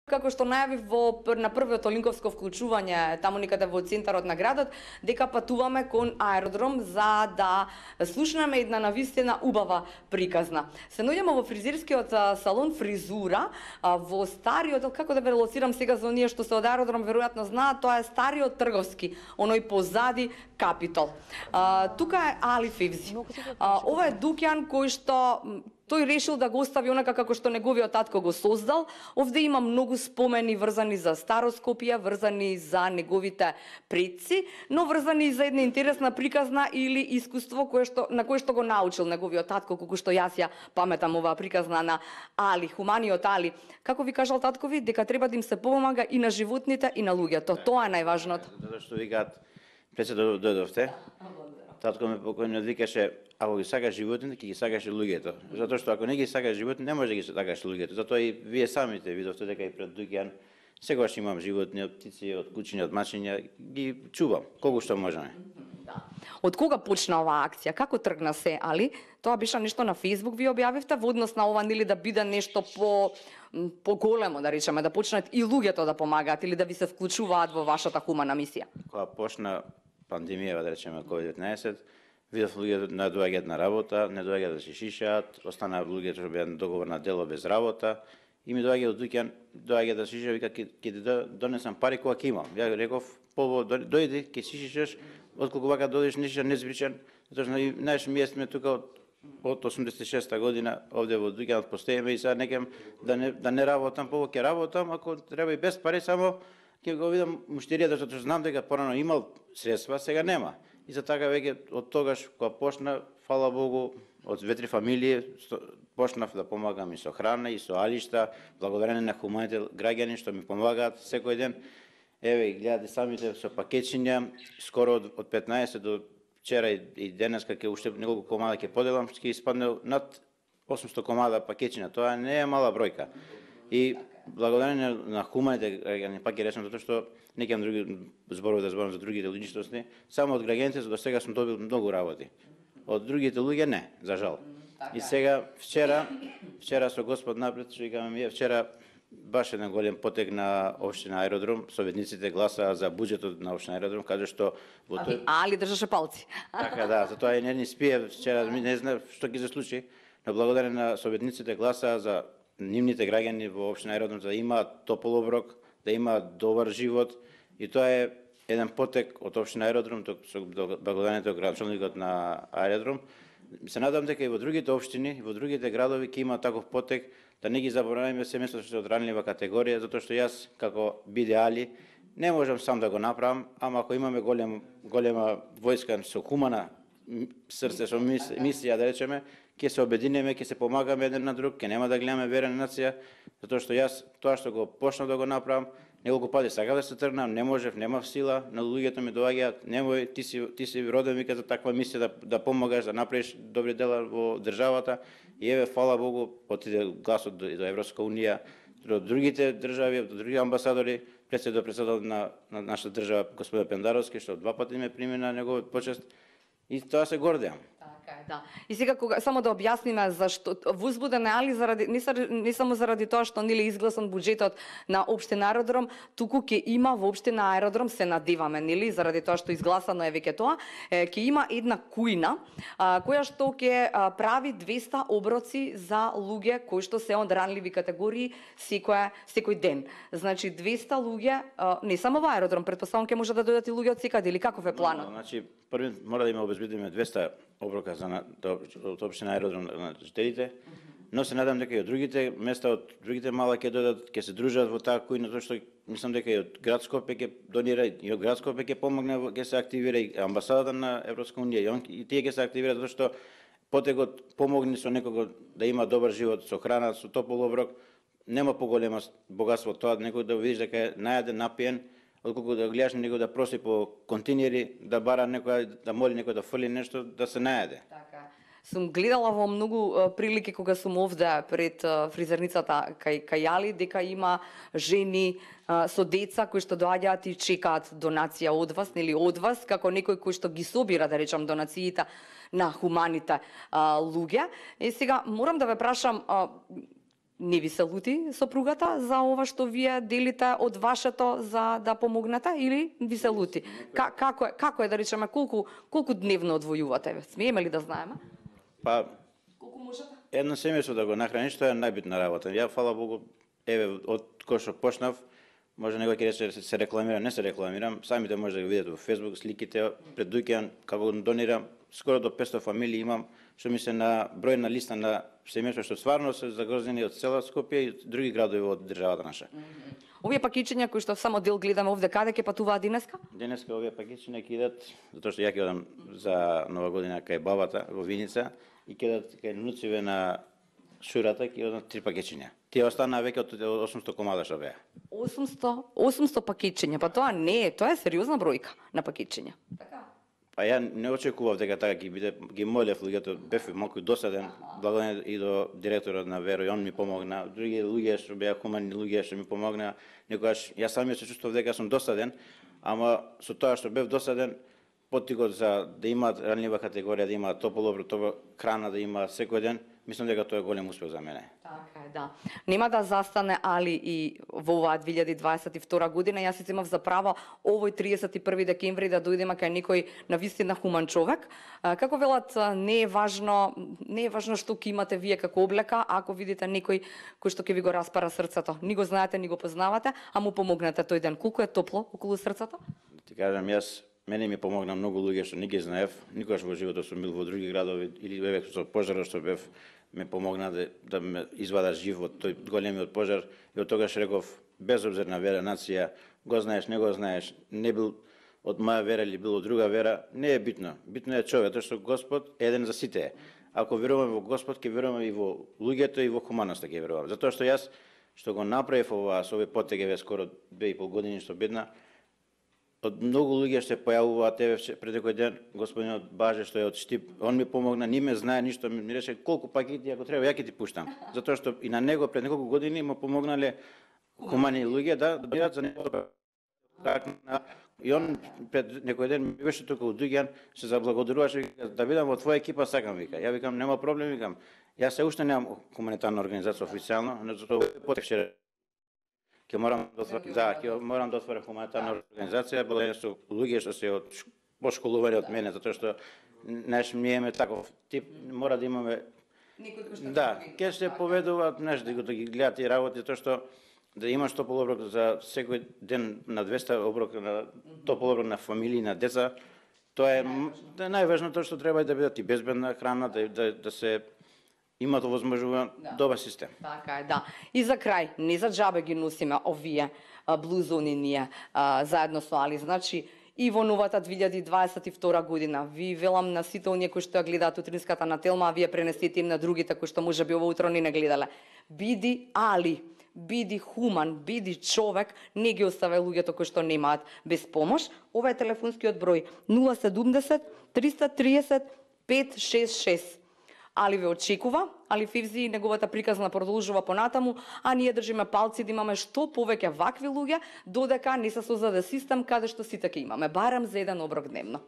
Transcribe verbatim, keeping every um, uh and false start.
Како што најавив во на првото линковско вклучување таму никаде во центарот на градот, дека патуваме кон аеродром за да слушнеме една навистина убава приказна. Се наоѓаме во фризерскиот салон Фризура во стариот, како да ве лоцирам сега за оние што се од аеродром веројатно знаат, тоа е стариот трговски, оној позади Капитол. А, тука е Али Февзи. А, ова е дуќан кој што тој решил да го остави онака како што неговиот татко го создал. Овде има многу спомени врзани за старо Скопје, врзани за неговите предци, но врзани и за една интересна приказна или искуство кое што на кое што го научил неговиот татко, колку што јас ја паметам оваа приказна на Али, хуманиот Али. Како ви кажал таткови, дека треба да им се помага и на животните и на луѓето. Тоа е најважното. Затоа што викаат, пред се дојдовте, татко ме покојно викаше, ако ги сакаш животните, ќе ги сакаш и луѓето. Затоа што ако не ги сакаш животните, не може да ги сакаш луѓето. Затоа и вие самите видовте дека и пред дуќан секогаш имам животни, од птици, од кучиња, од мачиња, ги чувам колку што можеме. Да. Од кога почна оваа акција? Како тргна се, Али? Тоа беше нешто на Facebook ви објавивте во однос на ова нели да биде нешто по поголемо, да речеме, да почнат и луѓето да помагаат или да ви се вклучуваат во вашата хумана мисија? Кога почна пандемија, да речеме ковид деветнаесет, видов луѓето не доаѓаат на работа, не доаѓаат да се шишаат, останаа луѓето што беа на договор на дело без работа, и ми доаѓа од дуќан, доаѓа да шиши, вика ќе ќе донесам пари кога ќе имам. Ја реков, побо дојди, ќе шишиш, отколку вака дојдеш нешто незбричен, затоа што знаеш ми сме тука од од осумдесет и шеста година овде во дуќанот постоиме и сега некем да не да не работам, побо ќе работам, ако треба и без пари, само ќе го видам муштеријата, затоа што знам дека порано имал средства, сега нема. И за така веќе од тогаш кога почна, фала Богу, од две-три фамилии почнав да помагам и со храна и со алишта, благодарение на хуманите граѓани што ми помагаат секој ден. Еве, гледате самите со пакетчиња, скоро од, од петнаесет до вчера и, и денеска ќе уште неколку комада ќе поделам, ќе испадне над осумсто комада пакетчиња. Тоа не е мала бројка. И благодарение на хуманите граѓани, пак ќе речам, затоа што не ќе други зборови да зборам за другите личности, само од граѓаните до сега сум добил многу работи. Од другите луѓе не, за жал. И сега вчера, вчера со Господ напред, што викаме ми, вчера баш еден голем потек на општина Аеродром, советниците гласаа за буџетот на општина Аеродром, каже што во тој Али држаше палци. Така да, затоа и не ни спие вчера, не знам што ќе се случи, но благодарение на советниците гласаа за нивните граѓани во општина Аеродром да имаат топол оброк, да имаат добар живот, и тоа е еден потек од општина Аеродром, со благодарението градчелникот на Аеродром. Се надам дека и во другите општини, и во другите градови ќе има таков потек, да не ги забораваме семејството што е од ранлива категорија, затоа што јас како биде Али не можам сам да го направам, ама ако имаме голем голема војска со хумана срце, со мисија да речеме, ќе се обединеме, ќе се помагаме еден на друг, ќе нема да гледаме верена нација, затоа што јас тоа што го почнав да го направам, неколку пати сакав да се тргнам, не можев, немав сила, на луѓето ми доаѓаат, немој, ти си ти си роден вика за таква мисија да да помагаш, да направиш добри дела во државата. И еве фала Богу, отиде гласот до, до Европска унија, до другите држави, до други амбасадори, председател председател на, на нашата држава господин Пендаровски, што два пати ме прими на неговиот почест. И тоа се гордеам. Така е, да. И сега кога само да објасниме зашто возбуден е Али заради не, не само заради тоа што нели изгласан буџетот на општина Аеродром, туку ќе има во општина Аеродром, се надеваме нели заради тоа што изгласано е веќе тоа, ќе има една кујна а, која што ќе прави двеста оброци за луѓе кои што се од ранливи категории секој секој ден. Значи двеста луѓе, а, не само во Аеродром, претпоставам ќе може да дојдат и луѓе од секаде или каков е планот? No, значи први мора да има обезбедиме двеста оброка за на, од општина Аеродром на жителите, но се надам дека и од другите места, од другите мала ќе дојдат, ќе се дружат во таа кујна, затоа што мислам дека и од град Скопје ќе донира, и од град Скопје ќе помогне, ќе се активира и амбасадата на Европска унија, и, он, и тие ќе се активираат затоа што потекот помогне со некого да има добар живот, со храна, со топол оброк, нема поголема богатство тоа некој да видиш дека е најаден, напиен, отколку да гледаш некој да проси по континери, да бара некој, да моли некој да фрли нешто, да се најаде. Така. Сум гледала во многу uh, прилики кога сум овде пред uh, фризерницата кај, кај Али, дека има жени uh, со деца кои што доаѓаат и чекаат донација од вас, нели од вас, како некој кој што ги собира, да речам, донациите на хуманите uh, луѓе. И сега морам да ве прашам, uh, Не ви се лути сопругата за ова што вие делите од вашето за да помогнете или ви се лути? Ка, како е, како е да речеме колку колку дневно одвојувате? Смееме ли да знаеме? Па Колку можете? едно семејство да го нахраниш, тоа е најбитна работа. Ја фала Богу, еве од кој што почнав, може некој ќе рече се рекламирам, не се рекламирам, самите може да го видите во Facebook сликите пред дуќан како донирам, скоро до петстотини фамилии имам, што ми се на број на листа на семејства што стварно се загрозени од цела Скопје и други градови од државата наша. Овие пакетчиња кои што само дел гледаме овде, каде ќе патуваат денеска? Денеска овие пакетчиња ќе идат, затоа што ја ќе одам за Нова година кај бабата во Виница и ќе идат кај нуциве на Шурата, ќе одат три пакетчиња. Тие останаа веќе од осумсто комада што беа. осумсто осумсто пакетчиња, па тоа не е, тоа е сериозна бројка на пакетчиња. Така. Па ја не очекував дека така ќе биде, ги молев луѓето, бев малку досаден, благодарен и до директорот на Веро, и он ми помогна, други луѓе што беа хумани луѓе што ми помогна, некогаш јас самиот се чувствував дека сум досаден, ама со тоа што бев досаден, поттикот за да имаат ранлива категорија, да имаат топол оброк, топла храна да имаат секој ден, мислам дека тоа е голем успех за мене. Така е, да. Нема да застане али и во оваа две илјади дваесет и втора година. Јас си земав за право овој триесет и први декември да дојдеме кај некој навистина хуман човек. Како велат, не е важно, не е важно што ќе имате вие како облека, ако видите некој кој што ќе ви го распара срцето. Ни го знаете, ни го познавате, а му помогнете тој ден. Колку е топло околу срцето? Ти кажам, јас мене ми помогна многу луѓе што не ги знаев, никогаш во животот сум бил во други градови или еве со пожарот што бев, ме помогна да, да ме извада жив од тој големиот пожар и од тогаш реков, без обзир на вера, нација, го знаеш, не го знаеш, не бил од моја вера или бил од друга вера, не е битно. Битно е човек, тоа што Господ е еден за сите. Ако веруваме во Господ, ќе веруваме и во луѓето и во хуманоста ќе веруваме. Затоа што јас што го направив ова со овој потег скоро две и пол години што бедна, од многу луѓе што се појавуваат, еве пред некој ден господинот Баже што е од Штип, он ми помогна, не ме знае ништо, ми рече колку пакети ако треба ја ќе ти пуштам. Затоа што и на него пред неколку години му помогнале хумани луѓе да бидат за него. И он пред некој ден ми беше тука од Дуѓан, се заблагодаруваше да бидам во твоја екипа, сакам вика. Ја викам нема проблем, викам. Јас се уште немам хуманитарна организација официјално, но затоа потекше ќе морам да отворам, да, ќе морам да отворам хуманитарна организација, благодарение со луѓе што се од пошколувани од мене, затоа што неш ми еме таков тип, мора да имаме да, ќе се поведуваат, неш да ги гледаат тие работи, тоа што да имаш топол оброк за секој ден на двеста оброк на топол оброк на фамилии, на деца, тоа е да, најважно тоа што треба да бидат и безбедна храна, да да, да се имат овозможуван да. Добар систем. Така е, да. И за крај, не за џабе ги носиме овие блузони ние а, заедно со Али. Значи, и во новата две илјади дваесет и втора година, ви велам на сите оние кои што ја гледаат утринската на Телма, а вие пренесете им на другите кои што може би ово утро не не гледале. Биди Али, биди хуман, биди човек, не ги оставај луѓето кои што немаат без помош. Ова е телефонскиот број нула седумдесет триста тридесет пет шест шест. Али ве очекува, Али Фивзи и неговата приказна продолжува понатаму, а ние држиме палци да имаме што повеќе вакви луѓе, додека не се создаде систем каде што сите ќе имаме, барем за еден оброк дневно.